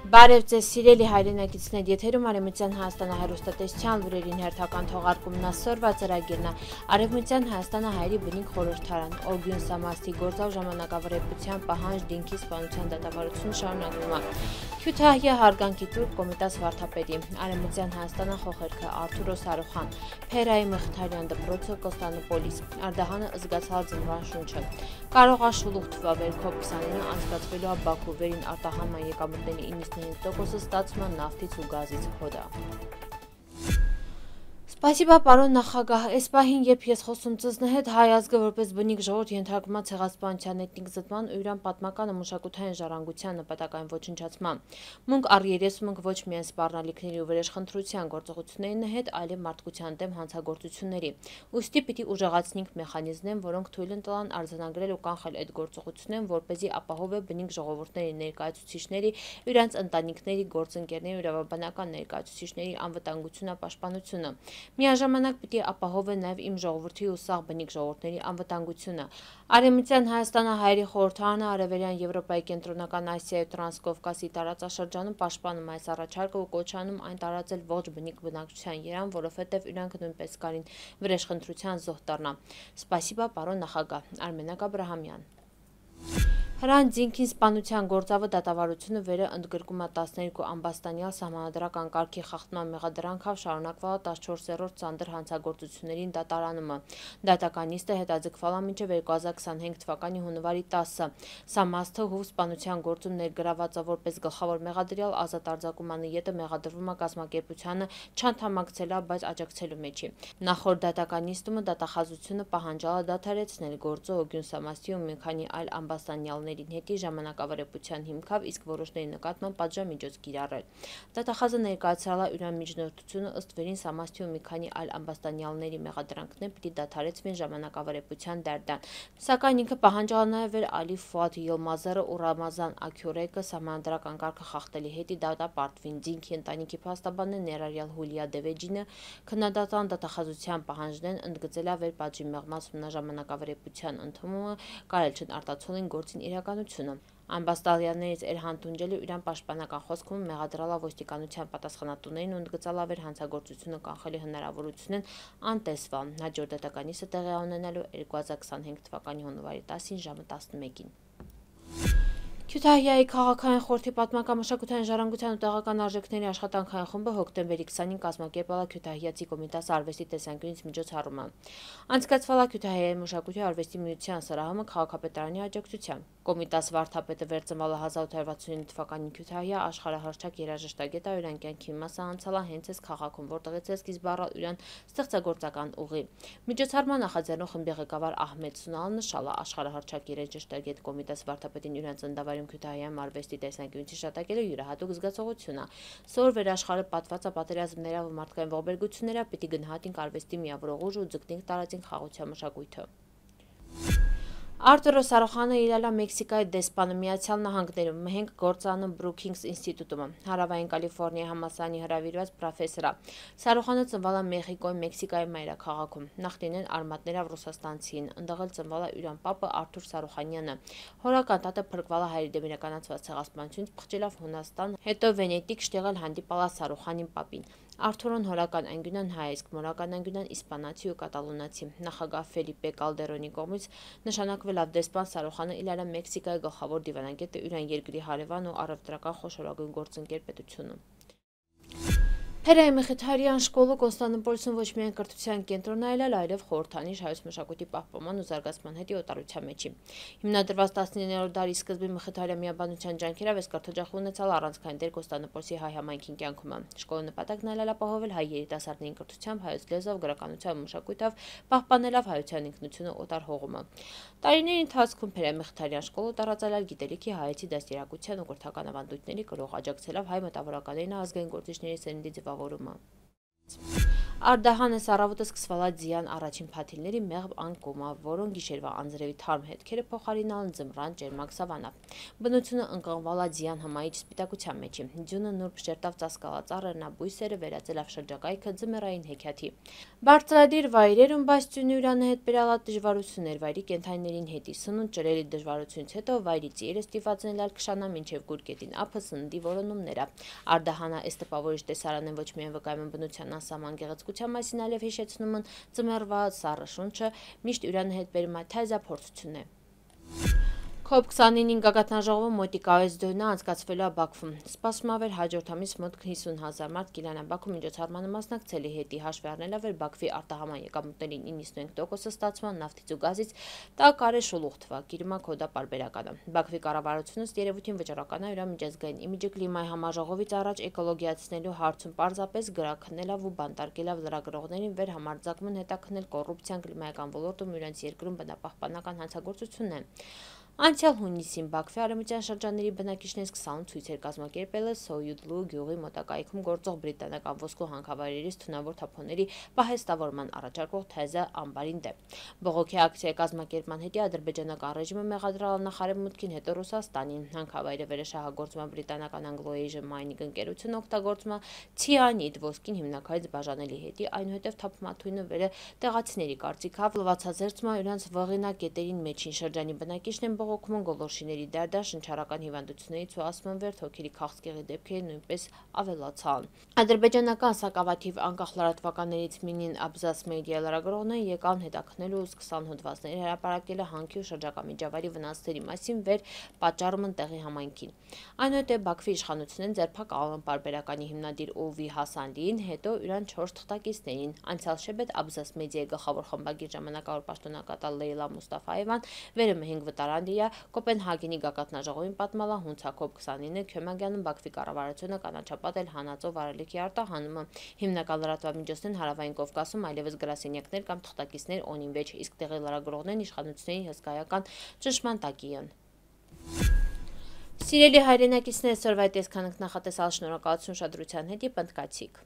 Բարև ձեզ սիրելի հայրենակիցներ, եթերում Արևմտյան Հայաստանը հեռուստատեսության լուրերին հերթական թողարկումն ասորվա ծրագիրն է։ Արևմտյան Հայաստանը հայերի բնիկ խորհրդարան, Օրգյուն Սամաստի գործավ ժամանակավրեպության պահանջ դինքի սպանության դատավարությունը շարունակվում է։ Քյութահիա հարգանքի տուրք Կոմիտաս վարդապետի, Արևմտյան Հայաստանը խոխերքը Արթուր Սարուխան, Փերայի Մխիթարյան դպրոցը Կոստանդնուպոլիս, Արդահանը զգացալ ձնվան շունչը։ Կարող է շուլուղ թվավերքով 29 անցկացվելու է Բաքու վերին արտահանման եկամուտների 95%-ը ստացվում է նավթից ու գազից հոդա։ Սպասիբա պարոն նախագահ, այս պահին, երբ ես խոսում ձեզն հետ, հայ ազգը որպես բնիկ ժողովուրդ ենթարկվում է ցեղասպանության էթնիկ զտման ու իրան պատմական ու մշակութային ժառանգության նպատակային ոչնչացման։ Մունք առ երես մունք ոչ միայն սպառնալիքների ու վրեժխնդրության գործողություններին հետ, այլև մարդկության դեմ հանցագործությունների։ Ուստի պիտի ուժեղացնենք մեխանիզմներ, որոնք թույլ ընտան արձանագրել ու կանխել այդ գործողություններն, որպեսզի ապահով է բնիկ ժողովուրդների ներկայացուցիչների, իրանց ընտանիքների, գործընկերների ու իրավաբանական ներկայացուցիչների անվտանգությունը, պաշտպանությունը։ Միաժամանակ պիտի ապահով է նաև իմ ժողովրդի ու սաղ բնիկ ժողովուրդների անվտանգությունը։ Արևմտյան Հայաստանը հայերի խորհրդարանը Արևելյան Եվրոպայի, Կենտրոնական Ասիայի ու Տրանսկովկասի տարածաշրջանում պաշտպանում այս առաջարկը ու կոչանում այն տարածել ողջ բնիկ բնակչության երան, որովհետև իրանք նույնպես կարին վրեժխնդրության զոհ դառնա։ Սպասիբա պարոն նախագահ, Արմենակ Աբրահամյան։ Հրանտ Ձինքին սպանության գործավը դատավարությունը վերը ընդգրկում է 12 ամբաստանյալ սահմանադրական կարգի խախտման մեղադրանքով շարունակվող 14-րդ ծանր հանցագործություններին դատարանումը։ Դատական նիստը հետաձգվել է մինչև 2025 թվականի հունվարի 10-ը։ Սամասթը հուվ սպանության գործում ներգրավված է որպես գլխավոր մեղադրյալ, ազատ արձակումանը ետը մեղադրվում է կազմակերպությանը չանդամակցելա, բայց աջակցելու մեջի։ Նախորդ դատական նիստումը դատախազությունը պահանջալ է դադարեցնել գործը Օրգյուն Սամաստի ու մի քանի այլ ամբաստանյալների հետի ժամանակավրեպության հիմքով, իսկ որոշների նկատմամբ պատժամիջոց կիրառել։ Դատախազը ներկայացրել է իրան միջնորդությունը ըստ վերին Սամաստի ու մի քանի այլ ամբաստանյալների մեղադրանքներ պիտի դադարեցվեն ժամանակավրեպության դարդան։ Սակայն ինքը պահանջալ է նաև Ալի Ֆուադ Յիլմազերը ու Ռամազան Աքյուրեկը սահմանադրական կարգը խախտելի հետի դատապարտվին։ Ձինքի ընտանիքի փաստաբանն ներառյալ Հուլիա Դևեջինը քննադատան դատախազության պահանջներն ընդգծել է վերպատժի մեղմած ժամանակավրեպության ընդունումը, կարել չեն արտացոլին գործին իրականությունը։ Ամբաստանյալներից Էրհան Տունջելը իրան պաշտպանական խոսքում մեղադրել է ոստիկանության պատասխանատուներին ու ընդգծել վեր հանցագործությունը կանխելի հնարավորությունն անտեսվել։ Հաջորդ դատական նիստը տեղի ունենալու 2025 թվականի հունվարի 10-ին ժամը 11-ին։ Քյութահիայի քաղաքային խորհրդի պատմական մշակութային ժառանգության ու տեղական արժեքների աշխատանքային խումբը հոկտեմբերի 20-ին կազմակերպել է Քյութահիացի Կոմիտաս արվեստի տեսանկյունից միջոցառումը։ Անցկացվել է Քյութահիայի մշակույթի արվեստի միության սրահումը քաղաքապետարանի աջակցությամբ։ Կոմիտաս վարդապետը վերծմալ է 1869 թվականին Քյութահիա աշխարհահռչակ երաժշտագետ է, իրան կյանքի մասը անցել է հենց այս քաղաքում, որտեղից է սկիզբ առել իրան ստեղծագործական ուղի։ Միջոցառման նախաձեռնող խմբի ղեկավար Ահմեդ Սունալը նշալ է աշխարհահռչակ երաժշտագետ Կոմիտաս վարդապետին իրան ծննդավայրում Քյութահիայում արվեստի տեսանկյունից հիշատակելը յուրահատուկ զգացողություն է։ Սոր վերաշխարհը պատված է պատերազմներով ու մարդկային ողբերգություններով, պիտի գնահատենք արվեստի միավորող ուժը ու ձգտենք տարածենք խաղաղության մշակույթը։ Արթուր Սարուխանը իրել է Մեքսիկայի դեսպանը Միացյալ Նահանգներում, մհենգ գործանում Բրուքինգս ինստիտուտում, Հարավային Կալիֆոռնիա համալսարանի հրավիրված պրոֆեսոր է։ Սարուխանը ծնվել է Մեխիկոյի Մեքսիկայի մայրաքաղաքում, նախնիներն արմատներով ռուսաստանցին, ընդեղ էլ ծնվել է իրան պապը Արթուր Սարուխանյանը։ Հորական տատը փրկվել է հայերի դեմ իրականացված ցեղասպանությունից, փախչելով Հունաստան, հետո Վենետիկ շտեղել հանդիպալ է Սարուխանին պապին։ Արթուրոն հորական անգյունան հայ, իսկ մորական անգյունան իսպանացի ու կատալոնացի։ Նախագահ Ֆելիպե Կալդերոնի կողմից նշանակվել է դեսպան Սարուխանը իրել է Մեքսիկայի գլխավոր դիվանագետը իրան երկրի հարևան ու առևտրական խոշորագույն գործընկեր պետությունում։ Փերայի Մխիթարյան շկոլը Կոստանդնուպոլիսում ոչ միայն կրթության կենտրոնն է, այլև խորհրդանիշ հայոց մշակույթի պահպանման ու զարգացման հետի օտարության մեջի։ Հիմնադրված 19-րդ դարի սկզբի Մխիթարյա միաբանության ջանքերով այս կրթօջախը ունեցալ առանցքային դեր Կոստանդնուպոլիսի հայ համայնքին կյանքում։ Շկոլի նպատակն այլ ապահովել հայ երիտասարդներին կրթությամբ, հայոց լեզվով, գրականությամբ ու մշակույթով, պահպանելով հայության ինքնությունը օտար հողումը։ Տարիների ընթացքում Փերայի Մխիթարյան շկոլը տարածել է գիտելիքի հայեցի դաստիարակության ու կրթական ավանդույթների կրող, աջակցելով հայ մտավորականներին ազգային գործիչների սերնդի ձևավորումը։ Արդահանես առավոտը սկսվալա ձյան առաջին փաթիլների մեղմ անկումը, որոնք գիշերվա անձրևի թարմ հետքերը փոխարինալն ձմռան ջերմակ սավանա։ Բնությունը ընկղմվալա ձյան հմայիչ սպիտակության մեջի։ Ձյունը նուրբ շերտավ ծածկալած առեռնաբույսերը վերածելով շրջակայքը ձմեռային հեքիաթի։ Բարձրադիր վայրերում բաց ձյունի հետ բերալա դժվարություններ վայրի կենդանիներին հետի սնունդ ճրերի դժվարությունից հետո վայրի ծիերը ստիպված ալ քշանա մինչև գուրգետին ափը սննդի որոնումները։ Արդահանա էս տպավորիչ տեսարանեն ոչ միայն վկայում են բնության անսահման գեղեցկության մասին, այլև հիշեցնում են ձմեռվա սառը շունչը, միշտ իրան հետ բերում է թայզափորձություն է։ COP29-ին գագաթնաժողովը մոտիկայից դոնը անցկացվելու է Բաքվում։ Սպասվում է հաջորդ ամիս մոտ 50,000 մարդ կիլանա Բաքու միջոցառմանը մասնակցելի հետի հաշվի առնելով Բաքվի արտահանման եկամուտների 95%-ը ստացման նավթից ու գազից, տա կարե շուլուղ թվա, գիրմա կոդա պարբերականը։ Բաքվի կառավարությունս երևույթին վճռական է իր միջազգային իմիջը կլիմայի համաժողովից առաջ էկոլոգիացնելու հարցում պարզապես գրաքննելով ու բանտարկելով լրագրողներին վեր համարձակումն հետաքննել կոռուպցիան կլիմայական ոլորտում իրենց երկրում բնապահպանական հանցագործությունն է։ Անցյալ հունիսին Բաքվի արևմտյան շրջանների բնակիչներից 28 ցույցեր կազմակերպել է Սոյուդլու գյուղի մոտակայքում գործող բրիտանական ոսկու հանքավայրերից թունավոր թափոնների պահեստավորման առաջարկող թեզը ամբարին դեմ։ Բողոքի ակցիայի կազմակերպման հետի ադրբեջանական ռեժիմը մեղադրել նախարարմուտքին, հետո Ռուսաստանին։ Հանքավայրը վերաշահագործում է բրիտանական Anglo-Asian Mining ընկերությունը, օգտագործում է ցիանիդ ոսկին հիմնակարից բաժանելի հետի, այնուհետև թափմաթույնը վերը տեղացիների կարծիքով լվացազերծում է իրենց վղինակետերին մեջին շրջանի բնակիչներն բողոքում գոլորշիների դարդար շնչառական հիվանդություններից ու ասում են թոքերի քաղցկեղի դեպքերը նույնպես ավելացան։ Ադրբեջանական սակավաթիվ անկախ լրատվականներից Մինին Աբզաս մեդիա լրագրողն եկան հետաքննելու ու սկսան հոդվածների հրապարակելը հանքի ու շրջակա միջավայրի վնասների մասին վեր պատճառում են տեղի համայնքին։ Այնուհետև Բաքվի իշխանությունն ձերբակալել են պարբերականի հիմնադիր Օվի Հասանլիին, հետո իրան 4 թղթակիցներին։ Անցյալ շաբաթ Աբզաս մեդիայի գլխավոր խմբագիր ժամանակավոր պաշտոնակատար Լեյլա Մուստաֆաևան վերում 5 վտարանդիա Կոպենհագենի գագաթնաժողովին պատմալա հունցա COP29 Քյոմագյանում Բաքվի կառավարությունը կանաչապատել հանածո վարելիքի արտահանումը։ Հիմնական լրատվամիջոցներն Հարավային Կովկասում այլևս գրասենյակներ կամ թղթակիցներ օնին վեճ, իսկ տեղի լրագրողներն իշխանությունների հսկայական ճնշման տակի են։ Սիրելի հայրենակիցներ, այսօրվա այս քանակ նախատեսալ շնորհակալություն ուշադրության հետ, պնդկացիք։